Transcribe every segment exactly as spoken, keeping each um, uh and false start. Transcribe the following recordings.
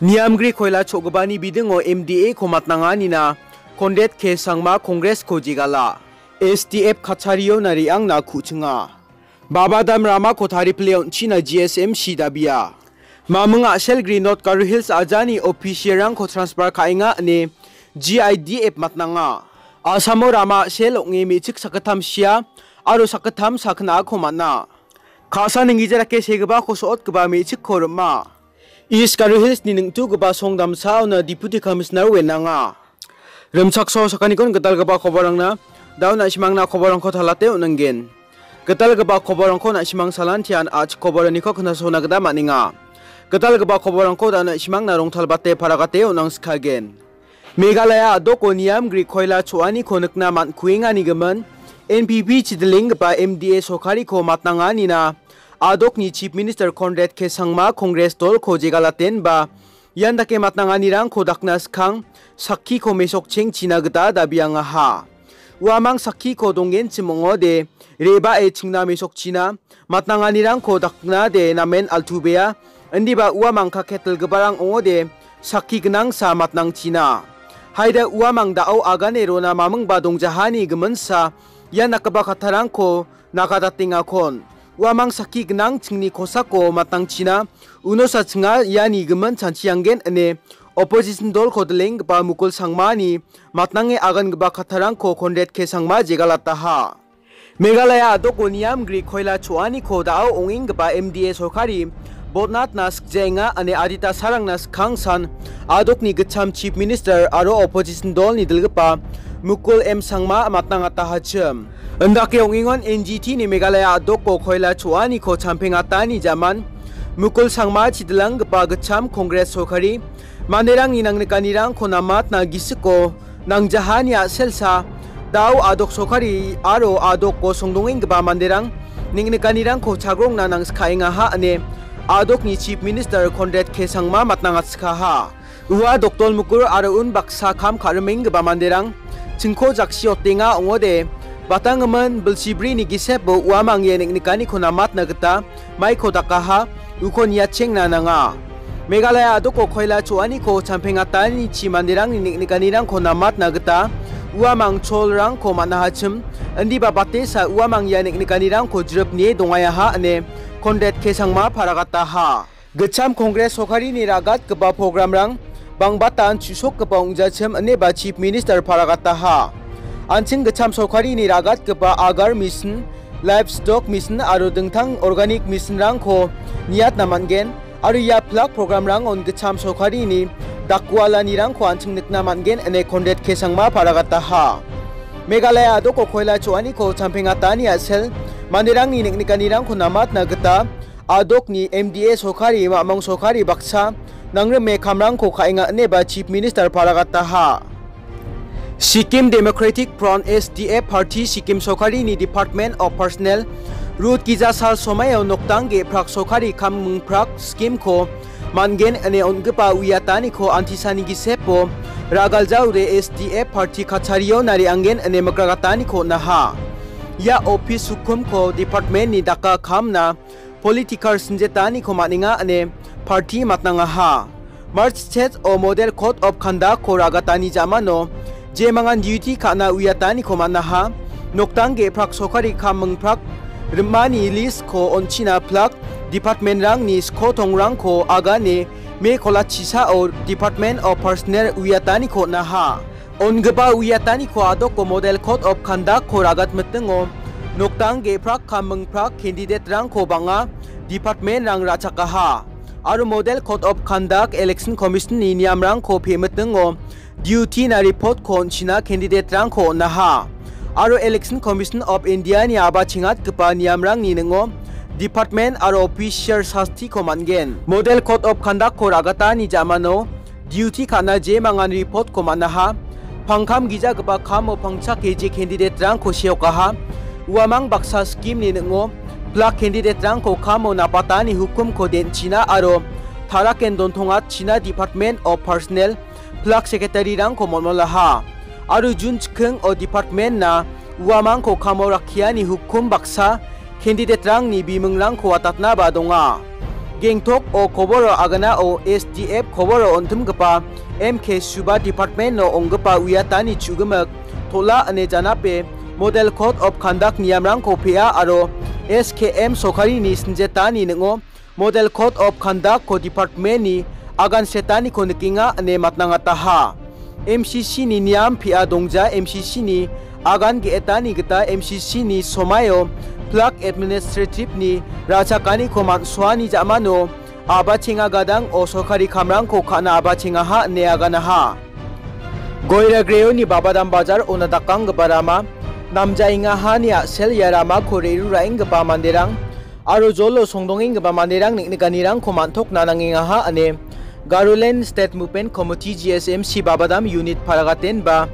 Niamgri koila cho·gipani bidingo M D A-ko matnanganina Conrad K Sangma Congress-ko jegala. S D F kachariona re·angna ku·chinga. Baba dam ramako taripile on·china G S M C dabia. Maming a·selgri North Garo Hills ajani official-rangko transfer ka·enga ine G I D F matnanga. Asamo rama a·sel ong·e me·chik sakgittam sia aro sakgittam sakgnako man·a. Ka·sa ninggija dake segipako so·otgipa me·chikko rima. East Garo Hills-ni ningtugipa song damsaona Deputy Commissioner wenanga. Rimchakso sakanikon gitalgipa koborangna, da·o na·simangna koborangko talate on·anggen. Gitalgipa koborangko na·simang salantian a·chik koboraniko knasona gita man·enga. Gitalgipa koborangko da·o na·simangna rongtalbate paragate on·angskagen. Meghalaya a·doko niamgri koila cho·aniko nikna man·kuengani gimin, N P P chidilenggipa M D A sorkariko matnanganina a·dokni Chief Minister Conrad K Sangma Congress dolko jegalatenba ian dake matnanganirangko dakna skang sakkiko mesokchengchina gita dabiangaha. Uamang sakkiko donggenchim ong·ode, re·bae chingna mesokchina, matnanganirangko daknade namen altubeya, indiba uamang kaketilgiparang ong·ode, sakki gnangsa matnangchina. Haida uamang da·o agane rona mamingba dongjahani giminsa, ia nakgipa kattarangko nakadatengakon. Uamang sakki gnang chingni kosako matnangchina, unosa chinga iani gimin chanchianggen ine opposition dolko dilenggipa Mukul Sangmani matnange agangipa kattarangko Conrad K Sangma jegalataha. Meghalaya a·doko niamgri koila cho·aniko da·o ong·enggipa M D A sorkari botnatna sikjaenga ine adita sarangna skangsan a·dokni gitcham Chief Minister aro opposition dolni dilgipa Mukul M Sangma matnangatahachim. Indake ong·engon N G T-ni Meghalaya a·doko koila cho·aniko champengatani jaman Mukul Sangma chidilanggipa gitcham Congress sorkari manderangni nangnikanirangko namatna gisiko nangjahani a·selsa, da·o a·dok sorkari aro a·doko songdongenggipa manderang neng·nikanirangko chagrongna nangskaengaha ine a·dokni Chief Minister Conrad K Sangma matnangatskaha. Ua dokdol mikur aro unbaksa kam ka·rimenggipa manderang chingko jaksiotenga ong·ode, batanggimin bilsibrini gisepo uamang ia neng·nikaniko namatna gita maiko dakaha, uko niatchengna nanga. Meghalaya a·doko koila cho·aniko champengatanichi manderangni neng·nikanirangko namatna gita uamang cholrangko man·ahachim, indiba batesa uamang ia neng·nikanirangko jrip nie dongayaha ine Conrad K Sangma paragataha. Gitcham Congress sorkarini ra·gatgipa programrang bangbatan chu·sokgipa ong·jachim ineba Chief Minister paragataha. An·ching gitcham sorkarini ra·gatgipa agar mission, livestock mission aro dingtang organic missionrangko niatna man·gen aro ia pilak programrangon gitcham sorkarini dakgualanirangko an·ching nikna man·gen ine Conrad K Sangma paragataha. Meghalaya a·doko koila cho·aniko champengatani a·sel manderangni neng·nikanirangko namatna gita a·dokni M D A sorkari, mamong sorkari baksa nangrime kamrangko ka·enga ineba Chief Minister paragataha. Sikkim Democratic Front, S D F, Party Sikkim sorkarini Department of Personnel rut gija sal somaio nokdang ge·prak sorkari kam mingprak scheme-ko man·gen ine on·gipa uiataniko antisani gisepo ra·galjaode S D F party kachario narianggen ine mikragataniko on·aha. Ia office hukumko department-ni daka kamna political sinjetaniko man·enga ine party matnangaha. March stage-o Model Code of Conduct-ko ra·gatani jamano jemangan duty ka·na uiataniko man·aha. Nokdang ge·prak sorkari kam mingprak rimani list-ko on·china plak department-rangni skotongrangko agane me kolachisao Department of Personnel uiataniko on·aha. On·gipa uiataniko a·doko Model Code of Conduct-ko ragatmitingo nokdang ge·prak kam mingprak candidate-rangko bang·a department-rang ra·chakaha. Aro Model Code of Conduct Election Commission-ni niamrangko pe·mitingo duty-na report-ko on·china candidate-rangko on·aha. Aro Election Commission of India-ni a·bachengatgipa niamrangni ning·o department aro official sastiko man·gen. Model Code of Conduct-ko ra·gatani jamano duty ka·na jemangan report-ko man·aha. Pangkam gijagipa kamo pangchake je candidate-rangko seokaha. Uamang baksa scheme-ni ning·o plak candidate-rangko kamo napatani hukumko den·china aro taraken dontongatchina Department of Personnel plak secretary-rangko molmolaha. Aro June chikingo department-na uamangko kamo rakkiani hukum baksa candidate-rangni bimingrangko watatnaba donga. Gengtok o koboro aganao S D F koboro ontimgipa M K Suba Department-o onggipa uiatani chu·gimik tola ine janape Model Code of Conduct niamrangko pea aro S K M sorkarini sinjetani ning·o Model Code of Conduct-ko department-ni agan setaniko nikenga ine matnangataha. M C C-ni niam pia dongja M C C-ni agan ge·etani gita M C C-ni somaio plak administrative-ni ra·chakaniko man·soani ja·mano a·bachenga gadang o sorkari kamrangko ka·na a·bachengaha ine aganaha. Goiragreoni Babadam Bajar ona dakanggipa rama namjaengahani a·sel ia ramako re·ruraenggipa manderang aro jolo songdongenggipa manderang neng·nikanirangko man·tokna nangengaha ine Garoland State Movement Committee G S M C Babadam Unit paragatenba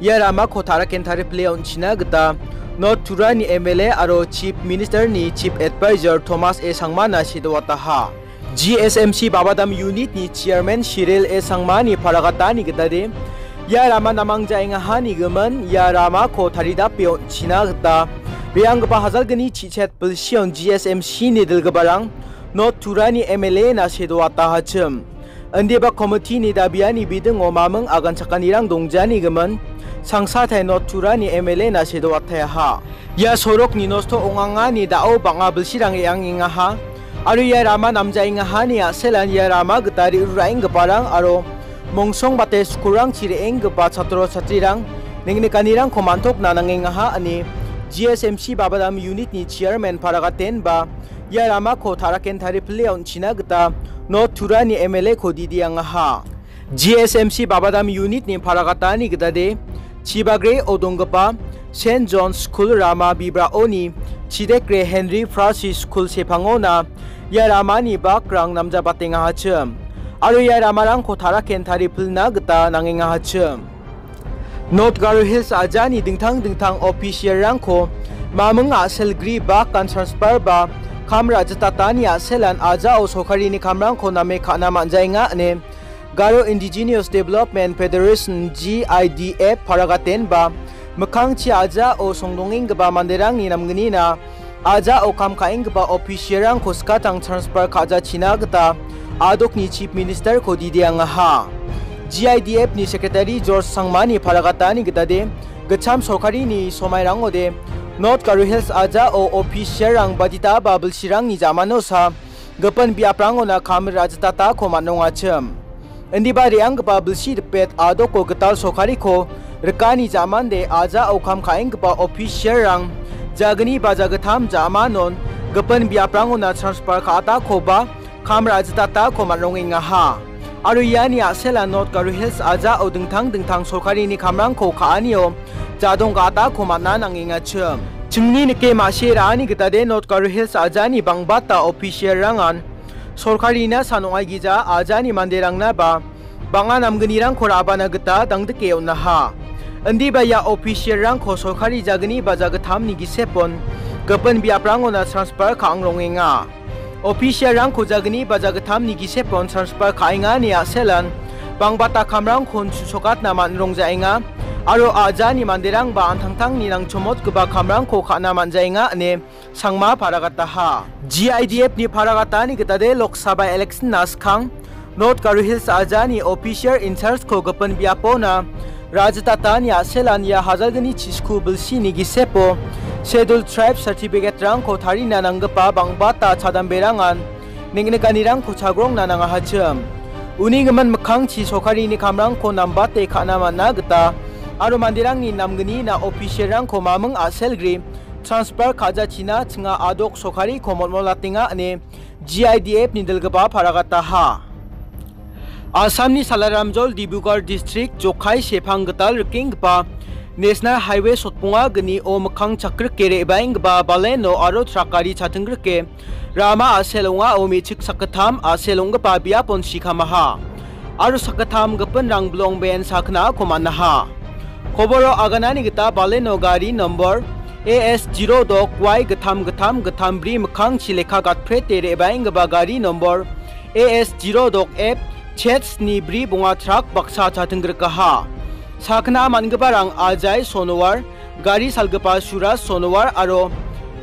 ia ramako taraken taripile on·china gita North Turani M L A aro Chief Minister-ni Chief Advisor Thomas A Sangmana sedoataha. G S M C Babadam Unit-ni Chairman Cyril A Sangmani paragatani gitade, ia rama namangjaengahani gimin ia ramako taridape on·china gita re·anggipa hajalgni chichet bilsion G S M C-ni dilgiparang North Turani M L A-na sedoatahachim. Indiba committee-ni dabiani bidingo maming aganchakanirang dongjani gimin Sangsatai North Turani M L A-na sedoataha. Ia sorokni nosto ong·angani da·o bang·a bilsirang re·angengaha. Aro ia rama namjaengahani a·selan ia rama gita re·ruraenggiparang aro mongsongbate skulrangchi re·enggipa chatro chatrirang neng·nikanirangko man·tokna nangengaha ine G S M C Babadam Unit-ni Chairman paragatenba ia ramako taraken taripile on·china gita North Turani M L A-ko didiangaha. G S M C Babadam Unit-ni paragatani gitade, Chibagre-o donggipa Saint John School rama bibraoni Chidekre Henry Francis School sepangona ia ramani bakrang namjabatengahachim. Aro ia ramarangko taraken taripilna gita nangengahachim. North Garo Hills ajani dingtang dingtang official-rangko maming a·sel gri bakan transfer ba kam ra·jitatani a·selan ajao sorkarini kamrangko name ka·na man·jaenga ine Garo Indigenous Development Federation, G I D F, paragatenba mikkangchi ajao songdongenggipa manderangni namgnina ajao kam ka·enggipa official-rangko skatang transfer ka·jachina gita a·dokni Chief Minister-ko didiangaha. G I D F-ni Secretary George Sangmani paragatani gitade, gitcham sorkarini somairangode North Garo Hills ajao official-rang baditaba bilsirangni jamanosa gipin biaprangona kam ra·jitatako man·ongachim. Indiba re·anggipa bilsi dipet a·doko gital sorkariko rikani jamande ajao kam ka·enggipa official-rang jagni ba jagittam jamanon gipin biaprangona transfer ka·atakoba kam ra·jitatako man·rongengaha. Aro iani a·sela North Garo Hills ajao dingtang dingtang sorkarini kamrangko ka·anio jadong ga·atako man·a nangengachim. Chingni nike ma·sie ra·ani gitade North Garo Hills ajani bang·bata official-rangan sorkarina san ong·aigija ajani manderangnaba bang·a namgnirangko ra·bana gita dangdike on·aha. Indiba ia official-rangko sorkari jagni ba jagittamni gisepon gipin biaprangona transfer ka·ang rongenga. Official-rangko jagni ba jagittamni gisepon transfer ka·engani a·selan bang·bata kamrangkon chu·sokatna man·rongjaenga aro ajani manderangba an·tangtangni nangchomotgipa kamrangko ka·na man·jaenga ine Sangma paragataha. G I D F-ni paragatani gitade Lok Sabha election-na skang North Garo Hills ajani official in charge-ko gipin biapona ra·jitatani a·selan ia hajalgni chisku bilsini gisepo Scheduled Tribe certificate-rangko tarina nanggipa bang·bata chadamberangan neng·nikanirangko chagrongna nangahachim. Uni gimin mikkangchi sorkarini kamrangko nambate ka·na man·a gita aro manderangni namgnina official-rangko maming a·selgri transfer ka·jachina chinga a·dok sorkariko molmolatenga ine G I D F-ni dilgipa paragataha. Assamni Salaramjol Dibrugarh District Jokhai Sepang gital rikenggipa National Highway sotbonga gnio mikkang chakrike re·baenggipa baleno aro trak gari chatinggrike rama a·sel ong·ao me·chik sakgittam a·sel ong·gipa biapon sikamaha. Aro sakgittam gipinrang bilong ben sakgnako man·aha. Koboro aganani gita baleno gari nombor A S zero dok Y gittam gittam gittam bri mikkangchi lekka gatprete re·baenggipa gari nombor A S zero dok F Z sni bri bonga trak baksa chatinggrikaha. Sakgna man·giparang Ajai Sonowar, gari salgipa Suraj Sonowar aro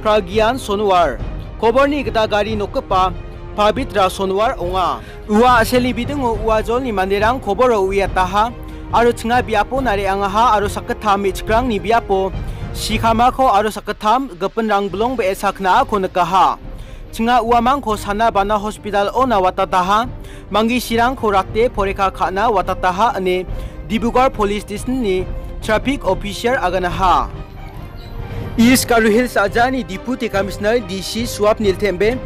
Pragyan Sonowar. Koborni gita gari nokgipa Pabitra Sonwar ong·a. Ua a·selni bidingo ua jolni manderang koboro uiataha aro chinga biapona re·angaha aro sakgittam me·chikrangni biapo sikamako aro sakgittam gipinrang bilong be·e saknaako nikaha. Chinga uamangko Sana Bana Hospital-ona watataha, Manggisirangko rate poreka ka·na watataha ine Dibrugarh Police Station-ni traffic officer aganaha. East Garo Hills ajani Deputy Commissioner D C Suap Niltembe,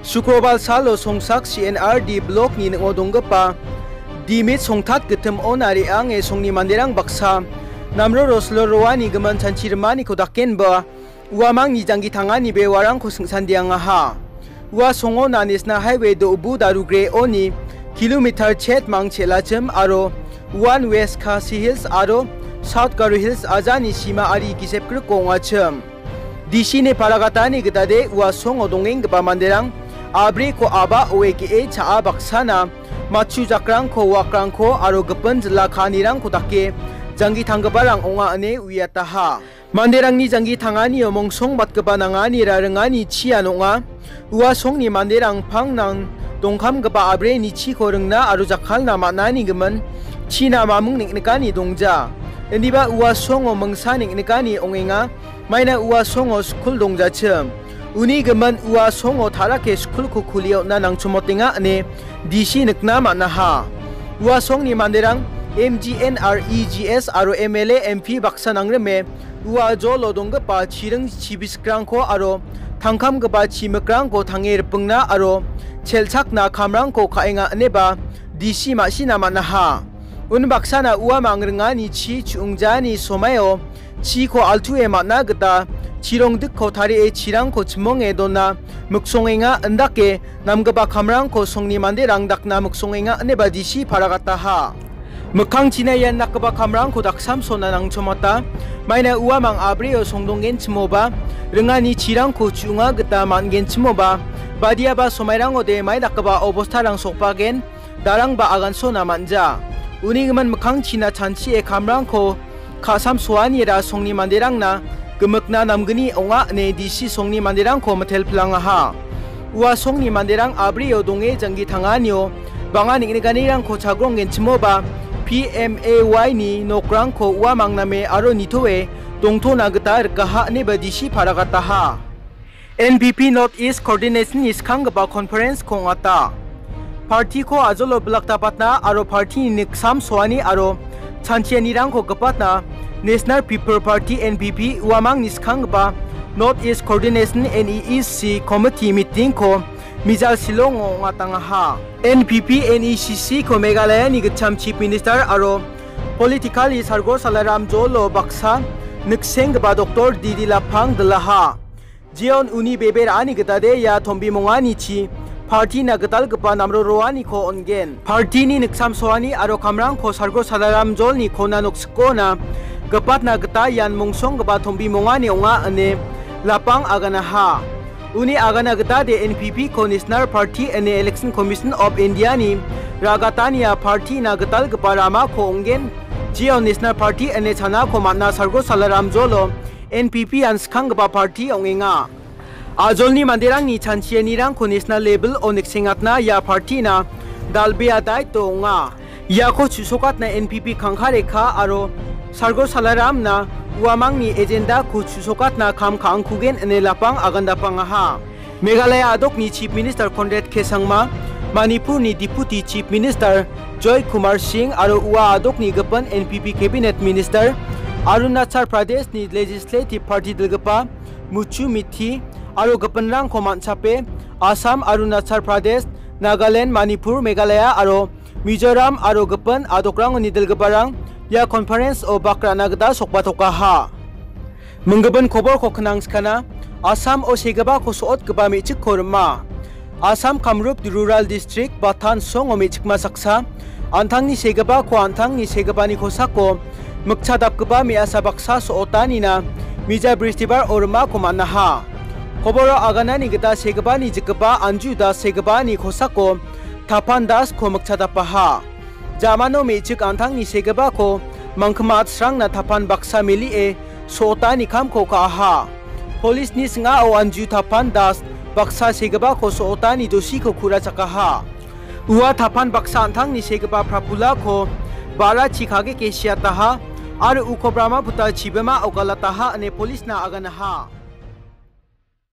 Sukrobar salo Songsak C N R D block-ni ning·o donggipa Dimit Songtat gitim-ona re·ange songni manderang baksa namro roslo roani gimin chanchi rimaniko dakenba uamangni janggi tangani bewarangko singsandeangaha. Ua songo Nanisna Highway do·bu darugre oni kilometer chet mang chelachim aro One West Khasi Hills aro South Garo Hills ajani sima ari gisepgriko ong·achim. D C ni paragatani gitade ua songo dongenggipa manderang abriko aba oe ge·e cha·a baksana matchu jakrangko, wakrangko aro gipin jila ka·anirangko dake janggi tanggiparang ong·a ine uiataha. Manderangni janggi tanganio mongsongbatgipa nanganira ringani chian ong·a. Ua songni manderang pangnang dongkamgipa abreni chiko ringna aro jakkalna man·ani gimin china mamung neng·nikani dongja. Indiba ua songo mingsa neng·nikani ong·enga. Maina ua songo skul dongjachim. Uni gimin ua songo tarake skulko kuliona nangchomotenga ine D C nikna man·aha. Ua songni manderang M G N R E G S aro M L A M P baksa nangrime ua jolo donggipa chiring chibisikrangko aro tangkamgipa chimikrangko tange ripingna aro chelchakna kamrangko ka·enga ineba D C ma·sina man·aha. Unbaksana uamang ringani chi chu·ongjani somaio chiko altue man·a gita chirongdikko tarie chirangko chimonge dona miksongenga, indake namgipa kamrangko songni manderang dakna miksongenga ineba D C paragataha. Mikkangchina ian dakgipa kamrangko daksamsona nangchomata. Maina uamang abrio songdonggenchimoba, ringani chirangko chu·onga gita man·genchimoba, badiaba somairangode mai dakgipa obostarang sokbagen, darangba agansona man·ja. Uni gimin mikkangchina chanchie kamrangko ka·samsoanira songni manderangna gimikna namgni ong·a ine D C songni manderangko mitelpilangaha. Ua songni manderang abrio donge janggi tanganio bang·a neng·nikanirangko chagronggenchimoba P M A Y ni nokrangko uamang name aro nitoe dongtona gita rikaha ineba D C paragataha. N P P North East Coordination-ni skanggipa conference-ko ong·ata. Party-ko ajolo bilaktapatna aro party-ni niksam soani aro chanchianirangko gipatna National People Party, N P P, uamangni skanggipa North East Coordination, N E E C, Committee meeting-ko Mijal Shillong-o ong·atangaha. N P P, N E C C-ko Meghalaya-ni gitcham Chief Minister aro politically Sargo Salaram Jolo baksa niksenggipa Doctor D D Lapang dilaha. Jeon uni bebe ra·ani gitade ia tombimonganichi party-na gitalgipa namro roaniko on·gen. Party-ni niksamsoani aro kamrangko Sargo Salaram Jolni kona noksikona gipatna gita ian mongsonggipa tombimongani ong·a ine Lapang aganaha. Uni agana gitade N P P-ko National Party ine Election Commission of India-ni ragatania party-na gitalgipa ramako ong·gen. Jeon National Party ine chanako man·a Sargo Salaram Jolo N P P-an skanggipa party ong·enga. Ajolni manderangni chanchianirangko national level-o niksengatna ia party-na dal·bea daito ong·a. Iako chu·sokatna N P P kangka rekha aro Sargo Salaramna uamangni agenda-ko chu·sokatna kam ka·angkugen ine Lapang agandapangaha. Meghalaya a·dokni Chief Minister Conrad K Sangma, Manipurni Deputy Chief Minister Joy Kumar Singh aro ua a·dokni gipin N P P Cabinet Minister, Arunachal Pradeshni Legislative Party dilgipa Muchu Mithi aro gipinrangko man·chape Assam, Arunachal Pradesh, Nagaland, Manipur, Meghalaya aro Mizoram aro gipin a·dokrangoni dilgiparang ia conference-o bak ra·na gita sokbatokaha. Minggipin koborko knangskana, Assam-o segipako so·otgipa me·chikko rima. Assam Kamrup Rural District Batan songo me·chikma saksa, an·tangni segipako an·tangni segipani kosako mikchadapgipa me·asa baksa so·otanina mija Bristibar-o rimako man·aha. Koboro aganani gita segipani jikgipa Anju Das segipani kosako Tapan Das-ko mikchadapaha. Jamano me·chik an·tangni segipako mangkima atsrangna tapan baksa melie so·otani kamko ka·aha. Polisni sing·ao Anju Tapan Das baksa segipako so·otani dosiko ku·rachakaha. Ua tapan baksa an·tangni segipa prapulako ba·ra chikageke siataha aro uko Brahmaputra chibima ogalataha ine polisna aganaha.